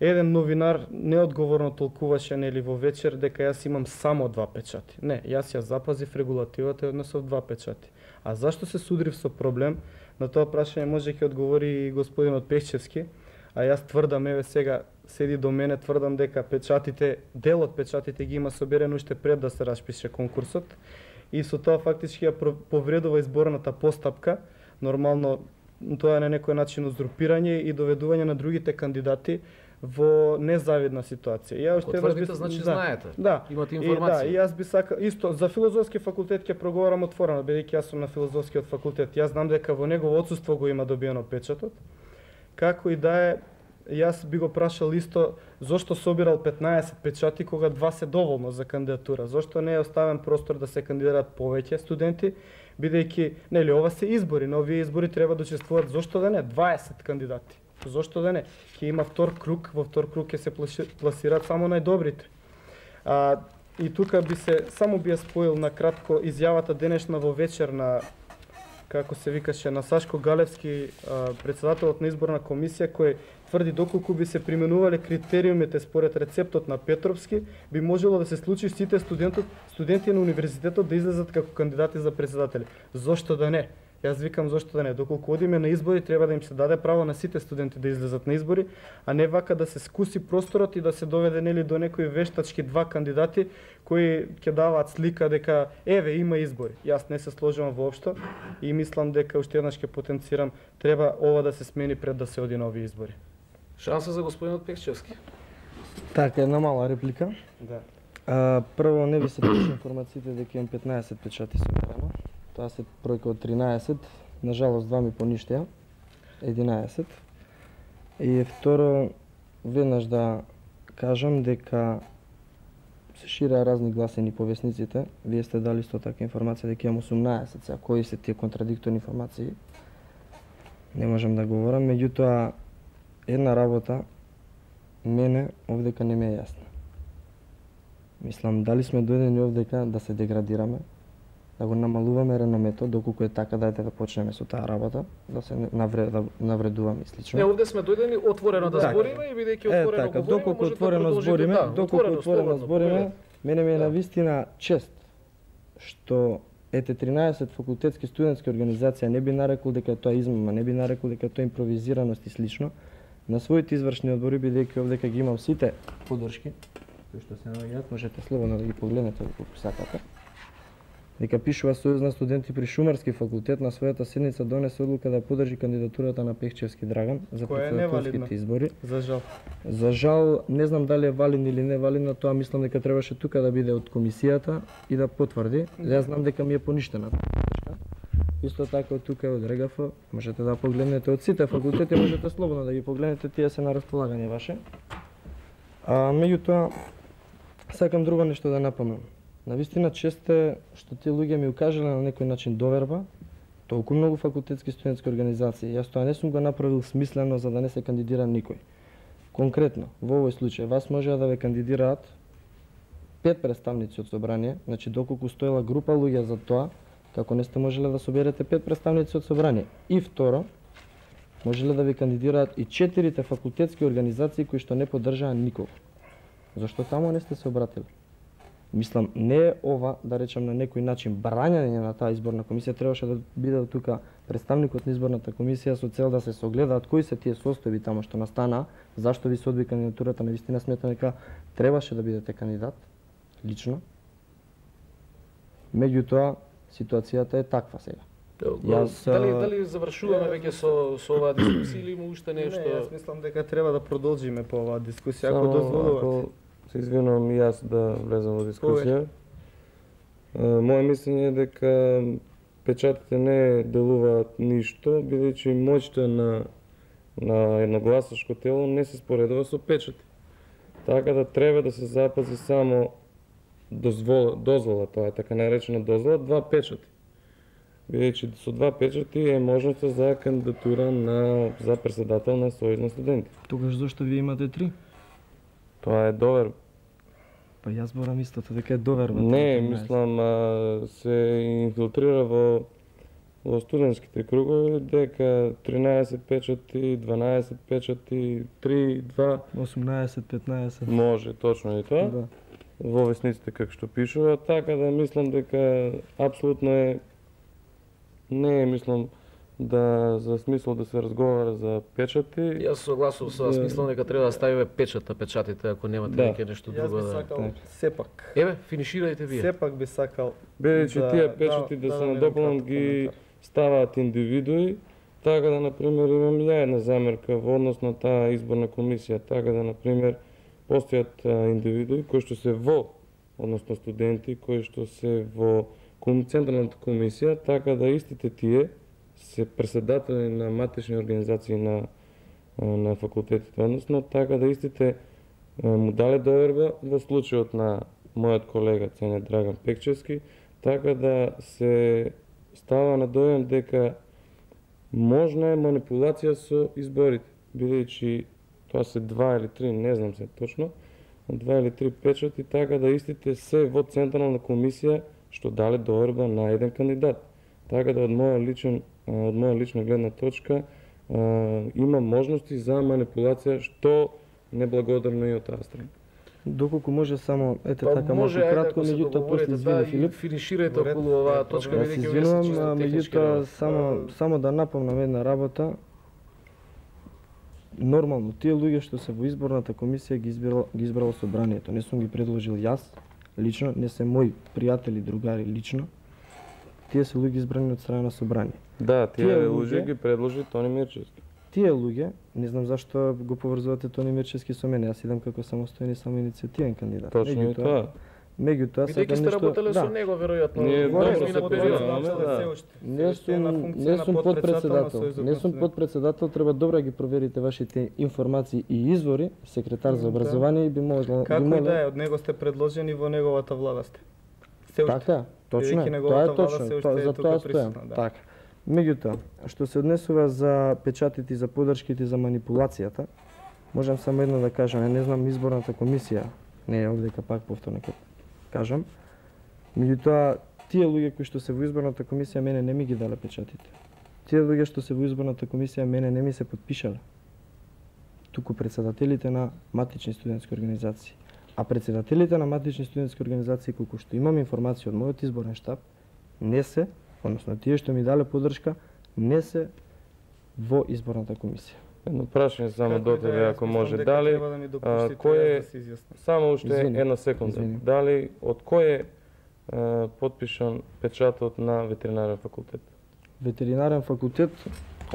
еден новинар неодговорно толкуваше нели во вечер дека јас имам само 2 печати. Не, јас ја запазив регулативата и однесов 2 печати. А зашто се судрив со проблем? На тоа прашање може ќе одговори и господинот Пешчевски, а јас тврдам, еве сега седи до мене, тврдам дека печатите, дел од печатите ги има соберено уште пред да се распише конкурсот и со тоа фактички ја повредува изборната постапка. Нормално тоа е на некој начин узурпирање и доведување на другите кандидати во незавидна ситуација. Ја уште тврдите, значи знаете. Да. Имате информација. И јас би сакал исто за филозофски факултет ќе проговорам отворено, бидејќи јас сум на филозофскиот факултет. Јас знам дека во негово отсуство го има добиено печатот. Како и да е, јас би го прашал исто зошто собирал 15 печати кога 2 се доволно за кандидатура. Зошто не е оставен простор да се кандидираат повеќе студенти, бидејќи нели ова се избори, на овие избори треба да учествуваат зошто да не 20 кандидати. Зошто да не? Ќе има втор круг, во втор круг ќе се пласираат само најдобрите. И тука би се само би ја споил на кратко изјавата денешна во вечер на како се викаше на Сашко Галевски, претседателот на изборна комисија, кој тврди доколку би се применувале критериумите според рецептот на Петровски, би можело да се случи сите студенти на универзитетот да излезат како кандидати за председатели. Зошто да не? Јас викам зошто да не. Доколку одиме на избори, треба да им се даде право на сите студенти да излезат на избори, а не вака да се скуси просторот и да се доведе нели до некои вештачки 2 кандидати кои ќе даваат слика дека еве има избори. Јас не се сложувам воопшто и мислам дека уште еднаш ќе потенцирам треба ова да се смени пред да се оди на овие избори. Шанса за господинот Пекчевски. Така, една мала реплика. Да. Прво не ви се точно информациите дека имам 15 печати соберено. Тоа се бројка од 13, нажалост 2 ми поништеа, 11. И второ, веднаш да кажам дека се ширеа разни гласени по весниците. Вие сте дали исто така информација дека имам 18, сега кои се тие контрадикторни информации, не можам да говорам, меѓутоа една работа мене овдека не ми е јасна. Мислам, дали сме дојдени овдека да се деградираме, да го намалуваме реномето, доколку е така дајте да почнеме со таа работа, да се навредуваме и слично. Не, овде сме дојдени отворено да збориме и бидејќи отворено така, говориме, доколку може отворено да збориме, доколку отворено збориме, мене ми е Да. навистина чест што ете 13 факултетски студентски организации не би нарекол дека тоа измама, не би нарекол дека тоа импровизираност и слично. На своите извршни одбори, бидејќи овдека ги имам сите подршки, кои што се наоѓаат, можете слободно да ги погледнете колку сакате. Дека пишува Сојуз на студенти при Шумарски факултет на својата седница донесе одлука да подржи кандидатурата на Пехчевски Драган за председателските избори. За жал. За жал, не знам дали е валидно или не валидно, тоа мислам дека требаше тука да биде од комисијата и да потврди. Јас знам дека ми е поништена. Исто така од тука од РГФ, можете да погледнете од сите факултети, можете слободно да ги погледнете, тие се на располагање ваше. Меѓутоа, сакам друго нешто да напомнам. Навистина чест е што тие луѓе ми укажале на некој начин доверба, толку многу факултетски студентски организации. Јас тоа не сум го направил смислено за да не се кандидира никој. Конкретно, во овој случај, вас може да ве кандидираат 5 представници од собрание, значи доколку стоела група луѓе за тоа, како не сте можеле да соберете 5 представници од собрание. И второ, можеле да ви кандидираат и 4 факултетски организации кои што не поддржаа никого. Зошто таму не сте се обратили? Мислам, не е ова, да речем на некој начин, брањање на таа изборна комисија, требаше да биде тука представникот на изборната комисија со цел да се согледаат кои се тие состојби таму што настана, зашто ви се одби кандидатурата, навистина сметам дека требаше да бидете кандидат, лично. Меѓутоа, ситуацијата е таква сега. Дали завршуваме веќе со оваа дискусија или има уште нешто? Не, јас мислам дека треба да продолжиме по оваа дискусија, ако дозволувате. Се извинувам и јас да влезам во дискусија. Моје мислење е дека печатите не делуваат ништо, бидејќи моќта на едно гласачко тело не се споредува со печати. Така да треба да се запази само дозвола, тоа е така наречена дозвола, 2 печати. Бидејќи со 2 печати е можноста за кандидатура за председател на Сојуз на студенти. Тогаш зашто вие имате 3? Тоа е доверба. Па јас зборам истото, дека е доверба. Не, мислам, се инфилтрира во во студентските кругови дека 13 печати, 12 печати, 3, 2, 18, 15. може точно и тоа. Да. Во весниците како што пишува, така да мислам дека апсолутно не е мислам да за смисол да се разговара за печати. Јас согласувам со вас, мислам дека треба да ставиме печат на печатите ако немате веќе нешто Јас друго би да. сакал сепак. Еве, финиширајте вие. Сепак би сакал Бидејќи тие печати да се надополнат ги ставаат индивидуи, така да, например, имам ја една замерка во однос на таа изборна комисија, така да, например, постојат индивидуи кои што се во, односно студенти, кои што се во Централната комисија, така да истите тие се председатели на матични организации на факултетите, односно, така да истите му дале доверба во случајот на мојот колега ценет Драган Пекчевски, така да се става на дојам дека можна е манипулација со изборите, бидејќи тоа се 2 или 3, не знам се точно, 2 или 3 печати, така да истите се во Централна комисија што дале доверба на еден кандидат. Така да од моја лична гледна точка има можности за манипулација што неблагодарно и од таа страна. Доколку може само така малку кратко, меѓутоа после извини Филип. Финиширајте околу оваа точка, Јас се извинувам, меѓутоа само да напомнам една работа. Нормално, тие луѓе што се во изборната комисија ги избрало собранието. Не сум ги предложил јас лично, не се мои пријатели, другари лично. Тие се луѓе избрани од страна на собрание. Да, тие луѓе ги предложи Тони Мирчевски. Тие луѓе, не знам зашто го поврзувате Тони Мирчевски со мене, јас идам како самостоен и самоиницијативен кандидат. Точно и тоа. Меѓутоа бидејќи сте работеле со него веројатно. Не сум подпредседател. Не сум подпредседател, треба добро ги проверите вашите информации и извори. Секретар за образование би можел. Како и да е, од него сте предложени во неговата влада сте. Така, точно е. Тоа е точно. За тоа стојам. Така. Меѓутоа, што се однесува за печатите, за подршките, за манипулацијата, можам само едно да кажам, не знам изборната комисија, не е овдека пак повторно ќе кажам. Меѓутоа, тие луѓе кои што се во изборната комисија мене не ми ги дале печатите. Тие луѓе што се во изборната комисија мене не ми се потпишале. Туку председателите на матични студентски организации. А председателите на матични студентски организации, колку што имам информација од мојот изборен штаб, не се, односно тие што ми дале поддршка, не се во изборната комисија. Едно прашање само до тебе, ако може, дали кој е, само уште една секунда, дали од кој е потпишан печатот на ветеринарен факултет? Ветеринарен факултет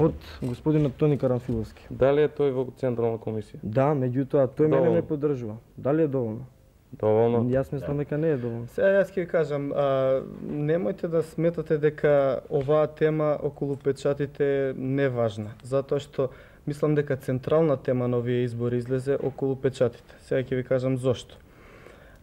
од господинот Тони Карамфиловски. Дали е тој во Централна комисија? Да, меѓутоа тој мене не поддржува. Дали е доволно? Доволно. Јас мислам дека не е доволно. Сега јас ќе ви кажам, немојте да сметате дека оваа тема околу печатите не е важна, затоа што мислам дека централна тема на овие избори излезе околу печатите. Сега ќе ви кажам зошто.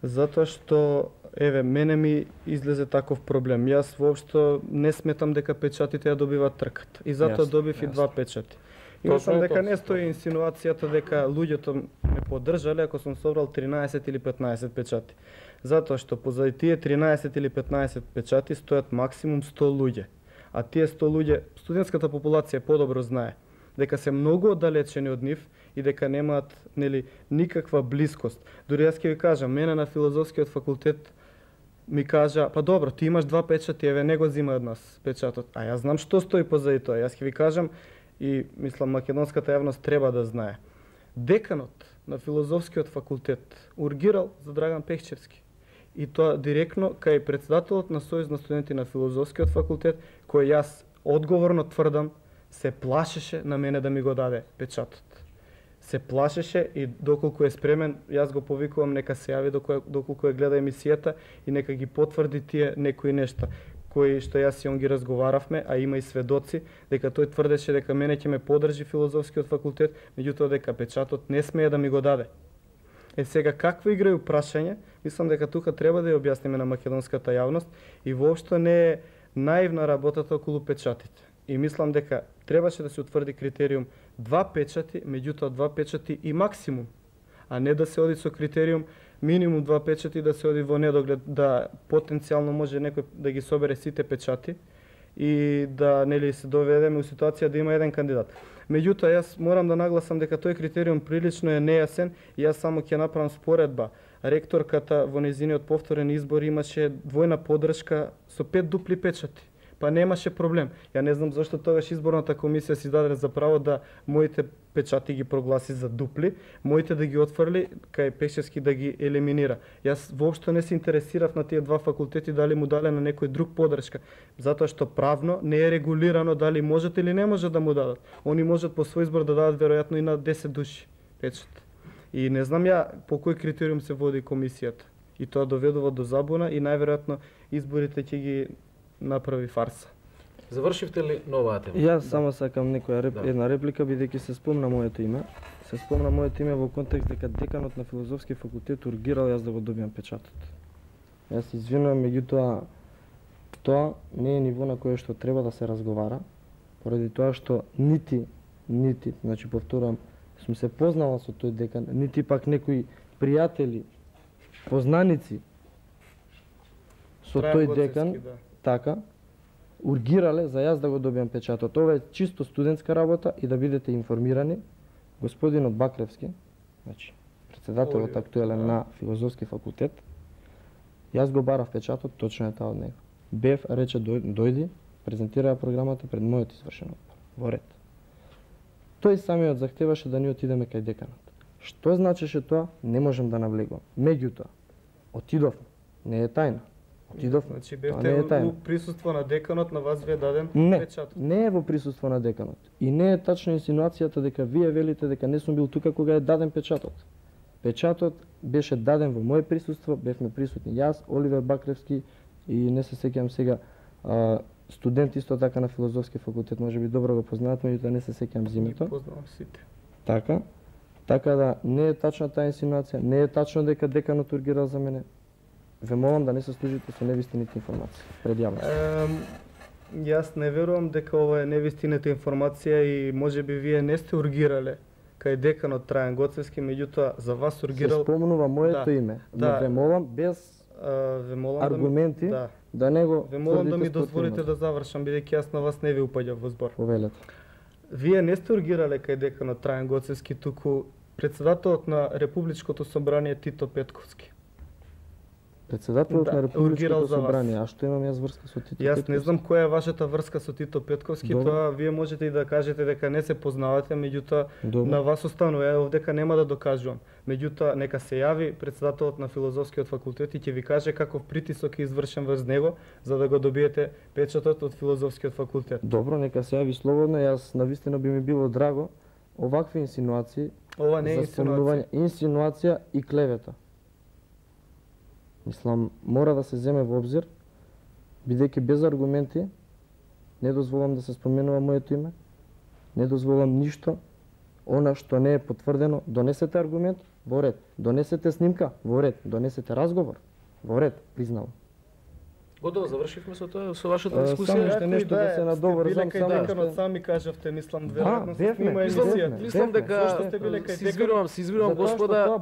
Затоа што еве мене ми излезе таков проблем. Јас воопшто не сметам дека печатите ја добиваат трката. И затоа добив и 2 печати. И мислам дека не стои инсинуацијата дека луѓето ме поддржале ако сум собрал 13 или 15 печати. Затоа што позади тие 13 или 15 печати стојат максимум 100 луѓе. А тие 100 луѓе, студентската популација подобро знае дека се многу оддалечени од нив и дека немаат никаква блискост. Дури јас ќе ви кажам, мене на филозофскиот факултет ми кажа, па добро, ти имаш 2 печати, еве не го зима од нас печатот. А јас знам што стои позади тоа. Јас ќе ви кажам и мислам македонската јавност треба да знае. Деканот на филозофскиот факултет ургирал за Драган Пекчевски. И тоа директно кај председателот на Сојуз на студенти на филозофскиот факултет, кој јас одговорно тврдам се плашеше на мене да ми го даде печатот. Се плашеше и доколку е спремен, јас го повикувам нека се јави доколку ја гледа емисијата и нека ги потврди тие некои нешта кои што јас и он ги разговаравме, а има и сведоци дека тој тврдеше дека мене ќе ме поддржи филозофскиот факултет, меѓутоа дека печатот не смее да ми го даде. Сега каква игра и прашање, мислам дека тука треба да ја објасниме на македонската јавност и воопшто не е наивна работата околу печатите. И мислам дека требаше да се утврди критериум 2 печати, меѓутоа 2 печати и максимум, а не да се оди со критериум минимум 2 печати да се оди во недоглед, да потенцијално може некој да ги собере сите печати и да нели се доведеме у ситуација да има еден кандидат. Меѓутоа, јас морам да нагласам дека тој критериум прилично е нејасен и јас само ќе направам споредба. Ректорката во нејзиниот повторен избор имаше двојна поддршка со 5 дупли печати. Па немаше проблем. Ја не знам зашто тогаш изборната комисија си даде за право да моите печати ги прогласи за дупли, моите да ги отфрли, кај Пешевски да ги елиминира. Јас воопшто не се интересирав на тие два факултети дали му дале на некој друг поддршка, затоа што правно не е регулирано дали можат или не можат да му дадат. Они можат по свој избор да дадат веројатно и на 10 души печат. И не знам ја по кој критериум се води комисијата. И тоа доведува до забуна и најверојатно изборите ќе ги направи фарса. Завршивте ли на оваа тема? Јас само сакам една реплика, бидејќи се спомна моето име. Се спомна моето име во контекст дека деканот на филозофски факултет ургирал јас да го добиам печатот. Јас се извинувам, меѓутоа тоа не е ниво на кое што треба да се разговара, поради тоа што нити, значи повторувам, сум се познала со тој декан, нити пак некои пријатели, познаници со тој декан, така, ургирале за јас да го добиам печатот. Ова е чисто студентска работа и да бидете информирани. Господинот Бакревски, значи председателот актуелен на филозофски факултет, јас го барав печатот, точно е таа од него. Бев рече дојди, презентира програмата пред мојот извршен одбор. Во ред. Тој самиот захтеваше да ни отидеме кај деканот. Што значеше тоа, не можем да навлегувам. Меѓутоа, отидовме, не е тајна. Отидовме. Значи бевте во присуство на деканот, на вас ви е даден печатот? Не е во присуство на деканот. И не е тачна инсинуацијата дека вие велите дека не сум бил тука кога е даден печатот. Печатот беше даден во моје присуство, бевме присутни јас, Оливер Бакревски и не се сеќавам сега студент исто така на филозофски факултет, можеби добро го познаат, меѓутоа не се сеќавам зимето. Не познавам сите. Така да не е тачна таа инсинуација, не е тачно дека деканот ургирал за мене. Ве молам да не се служите со невистините информации пред јавноста. Јас не верувам дека ова е невистината информација и можеби вие не сте ургирале кај деканот Трајан Гоцевски, меѓутоа за вас ургирал... Се спомнува моето име, но ве молам без аргументи да не го Ве молам да ми дозволите да завршам, бидејќи јас на вас не ви упаѓав во збор. Повелете. Вие не сте ургирале кај деканот Трајан Гоцевски, туку председателот на Републичкото собрание Тито Петковски. Председателот на Републичкото собрание, а што имам јас врска со Тито Петковски? Јас не знам која е вашата врска со Тито Петковски, тоа вие можете и да кажете дека не се познавате, меѓутоа на вас останува, ја овдека нема да докажувам. Меѓутоа нека се јави председателот на филозофскиот факултет и ќе ви каже каков притисок е извршен врз него за да го добиете печатот од филозофскиот факултет. Добро, нека се јави слободно, јас навистина би ми било драго овакви инсинуации. Ова не е инсинуација и клевета. Мислам, мора да се земе во обзир, бидејќи без аргументи не дозволам да се споменува моето име, не дозволам ништо, она што не е потврдено, донесете аргумент, во ред, донесете снимка, во ред, донесете разговор, во ред, признавам. Готово завршивме со тоа, со вашата дискусија. Само уште нешто да се надоврзам, само деканот сами кажавте, мислам, веројатно се снима емисијата. Мислам дека се извинувам господа,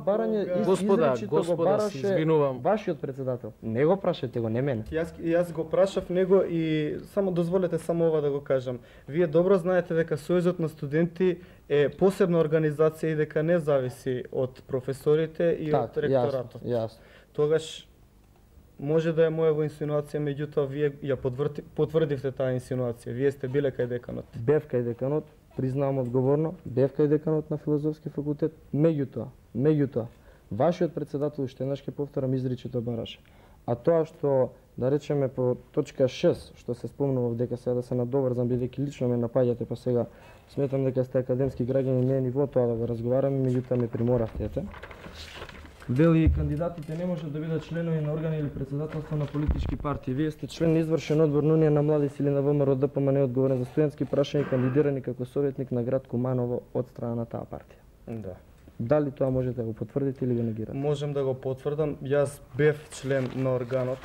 се извинувам. Вашиот председател, не го прашате го, не мене. Јас го прашав него и само дозволете само ова да го кажам. Вие добро знаете дека Сојузот на студенти е посебна организација и дека не зависи од професорите и од ректоратот. Јасно. Тогаш може да е моја инсинуација, меѓутоа вие ја потврдивте таа инсинуација. Вие сте биле кај деканот. Бев кај деканот, признавам одговорно, бев кај деканот на филозофски факултет, меѓутоа, вашиот председател, уште еднаш ќе повторам, изричито бараше. А тоа што, да речеме по точка 6, што се спомнува дека сега да се надоврзам, бидејќи лично ме напаѓате, па сега сметам дека сте академски граѓани, не е ниво тоа да го разговараме, меѓутоа ме приморавте. Вели, кандидатите не можат да бидат членови на органи или председателство на политички партии. Вие сте член на извршен одбор на Унија на млади сили на ВМРО ДПМН, одговорен за студентски прашања и кандидирани како советник на град Куманово од страна на таа партија. Да. Дали тоа можете да го потврдите или го негирате? Можем да го потврдам. Јас бев член на органот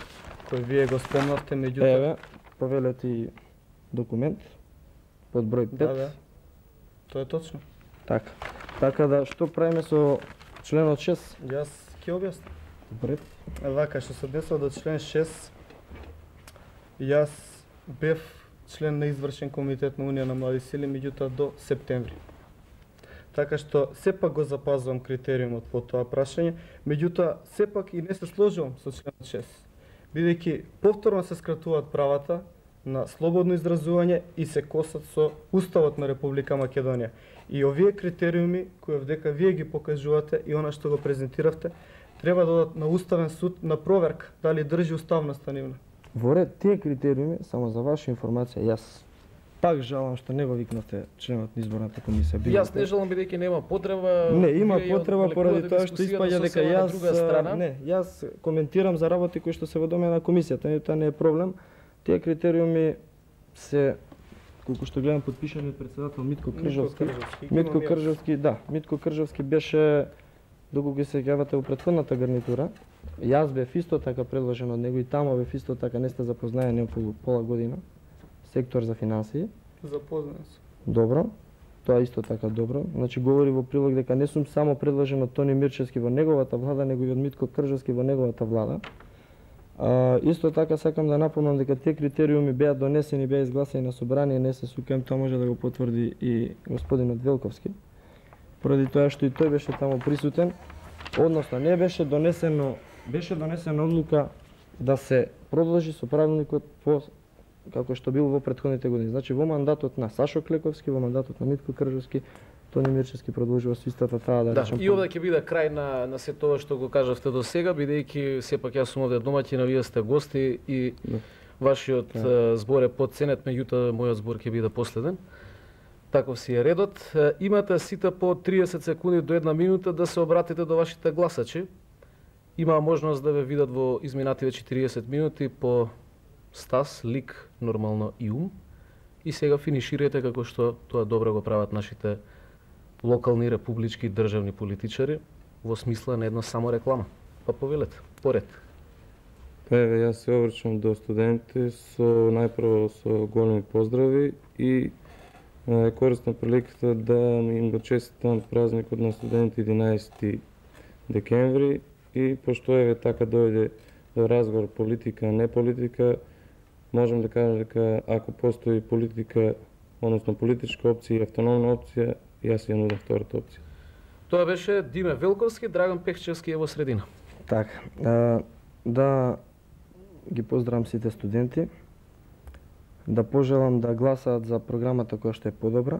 кој вие го спомнавте, меѓутоа... Еве, повелете и документ под број 5. Да. Тоа е точно. Така да, што правиме со членот 6? Јас ќе објаснам. Добре. Вака, што се однесува до член 6, јас бев член на извршен комитет на Унија на млади сили, меѓутоа до септември. Така што сепак го запазвам критериумот по тоа прашање, меѓутоа сепак и не се сложувам со членот 6, бидејќи повторно се скратуваат правата на слободно изразување и се косат со Уставот на Република Македонија. И овие критериуми кои вдека вие ги покажувате и она што го презентиравте, треба да одат на Уставен суд на проверка дали држи уставноста нивна. Во ред тие критериуми, само за ваша информација, јас пак жалам што не го викнавте членот на изборната комисија. Јас не жалам бидејќи нема потреба. Не, има потреба поради тоа што испаѓа дека јас коментирам за работи кои што се во доме на комисијата, тоа не е проблем. Тие критериуми се, колку што гледам, подпишани од председател Митко Кржовски. Митко Кржовски беше, доколку се сеќавате, во претходната гарнитура. Јас бев исто така предложен од него и тамо бев исто така, не сте запознаени околу пола година. Сектор за финансии. Запознаен сум. Добро. Тоа исто така добро. Значи говори во прилог дека не сум само предложен од Тони Мирчевски во неговата влада, него и од Митко Кржовски во неговата влада. Исто така сакам да напомнам дека тие критериуми беа донесени, беа изгласени на собрание, не се сукам, тоа може да го потврди и господинот Велковски. Поради тоа што и тој беше таму присутен, односно не беше донесено одлука да се продолжи со правилникот по како што бил во претходните години. Значи во мандатот на Сашо Клековски, во мандатот на Митко Кржовски, Тони Мирчевски продолжува со истата таа да речем. И овде ќе биде крај на се тоа што го кажавте до сега, бидејќи сепак јас сум овде домаќин, вие сте гости и вашиот збор е потценет, меѓутоа мојот збор ќе биде последен. Таков си е редот. Имате сите по 30 секунди до 1 минута да се обратите до вашите гласачи. Има можност да ве видат во изминативе 40 минути по стас, лик, нормално и ум. И сега финиширате како што тоа добро го прават нашите локални, републички, државни политичари во смисла на една само реклама. Па повелете, поред. Еве, јас се обрачам до студенти со најпрво со големи поздрави и користам приликата да им го честитам празникот на студенти 11 декември и пошто еве така дојде до разговор политика, не политика, можам да кажам дека ако постои политика, односно политичка опција и автономна опција, јас ја нудам втората опција. Тоа беше Диме Велковски, Драган Пехчевски е во средина. Така, да ги поздравам сите студенти, да пожелам да гласаат за програмата која што е подобра,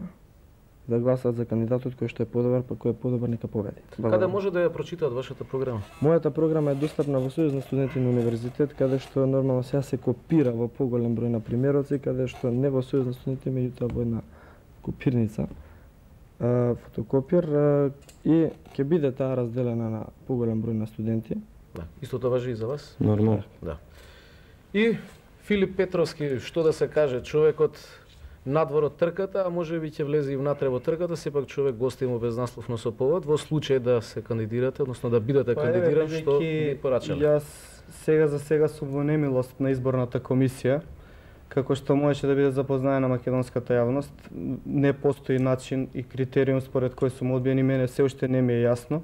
да гласаат за кандидатот кој што е подобар, па кој е подобар нека победи. Каде може да ја прочитаат вашата програма? Мојата програма е достапна во Сојуз на студенти на универзитет, каде што нормално сега се копира во поголем број на примероци, каде што не во Сојуз на студенти, меѓутоа во една копирница, фотокопир, и ќе биде таа разделена на поголем број на студенти. Да, истото важи и за вас? Нормално. Да. И Филип Петровски, што да се каже, човекот надвор од трката, а може би ќе влезе и внатре во трката, сепак човек гостимо без наслов на Соповод, во случај да се кандидирате, односно да бидете кандидиран, што ви порачале? Јас за сега сум во немилост на изборната комисија, како што можеше да биде запознаена македонската јавност, не постои начин и критериум според кој сум одбиен и мене се уште не ми е јасно.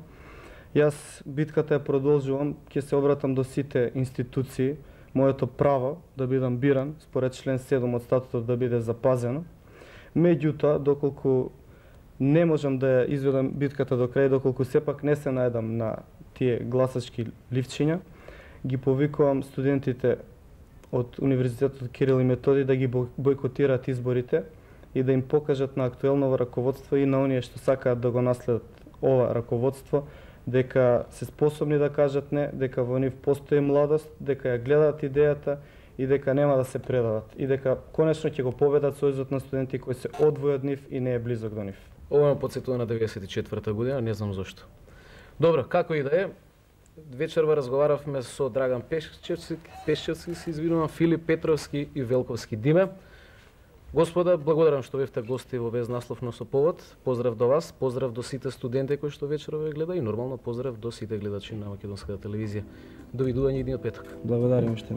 Јас битката ја продолжувам, ќе се обратам до сите институции, моето право да бидам биран според член 7 од статутот да биде запазено. Меѓутоа, доколку не можам да ја изведам битката до крај, доколку сепак не се најдам на тие гласачки ливчиња, ги повикувам студентите од Универзитетот Кирил и Методи да ги бойкотираат изборите и да им покажат на актуелно раководство и на оние што сакаат да го наследат ова раководство, дека се способни да кажат не, дека во нив постои младост, дека ја гледаат идејата и дека нема да се предадат. И дека конечно ќе го победат Сојузот на студенти кој се одвои од нив и не е близок до нив. Ова ме потсетува на 94-та година, не знам зошто. Добро, како и да е, вечерва разговаравме со Драган Пешчевски, се извинувам, Филип Петровски и Велковски. Диме, господа, благодарам што бевте гости во Без наслов на Соповод. Поздрав до вас, поздрав до сите студенти кои што вечерва ве гледа и нормално поздрав до сите гледачи на македонската телевизија. Довидување идниот петок. Благодарам што